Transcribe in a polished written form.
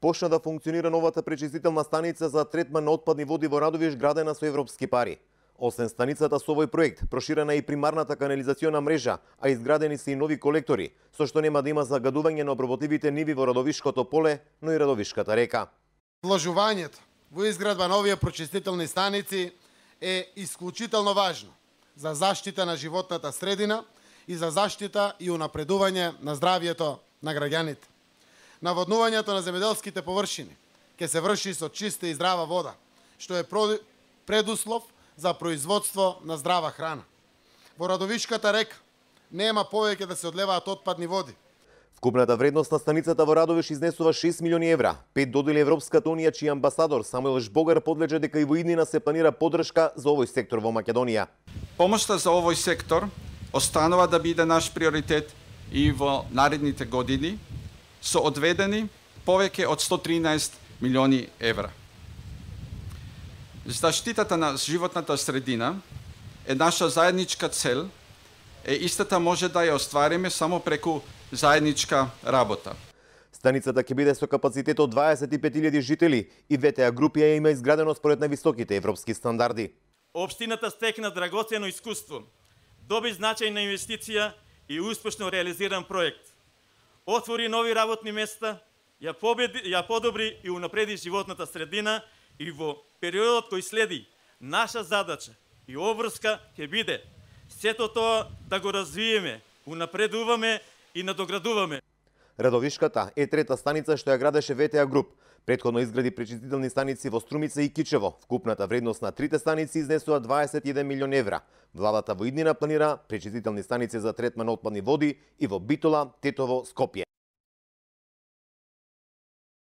Почна да функционира новата пречистителна станица за третман на отпадни води во Радовиш, градена со европски пари. Освен станицата со овој проект, проширена е и примарната канализациона мрежа, а изградени се и нови колектори, со што нема да има загадување на обработливите ниви во Радовишкото поле, но и Радовишката река. Вложувањето во изградба на овие прочистителни станици е исклучително важно за заштита на животната средина и за заштита и унапредување на здравјето на граѓаните. Наводнувањето на земјоделските површини ќе се врши со чиста и здрава вода, што е предуслов за производство на здрава храна. Во Радовишката река нема повеќе да се одлеваат отпадни води. Вкупната вредност на станицата во Радовиш изнесува 6 милиони евра. 5 додели Европската унија, чиј амбасадор Самуел Жбогар подлежа дека и во иднина се планира поддршка за овој сектор во Македонија. Помошта за овој сектор останува да биде наш приоритет и во наредните години, со одведени повеќе од 113 милиони евра. Заштитата на животната средина е наша заедничка цел, истата може да ја оствариме само преку заедничка работа. Станицата ќе биде со капацитет од 25.000 жители и ВТА групи ја има изградено според највисоките европски стандарди. Општината стекна драгоцено искуство, доби значајна инвестиција и успешно реализиран проект. Отвори нови работни места, ја подобри и унапреди животната средина и во периодот кој следи, наша задача и обврска ќе биде сето тоа да го развиеме, унапредуваме и надоградуваме. Радовишката е трета станица што ја градеше ВТА груп. Претходно изгради пречистителни станици во Струмица и Кичево. Вкупната вредност на трите станици изнесува 21 милион евра. Владата во иднина планира пречистителни станици за третман на отпадни води и во Битола, Тетово, Скопје.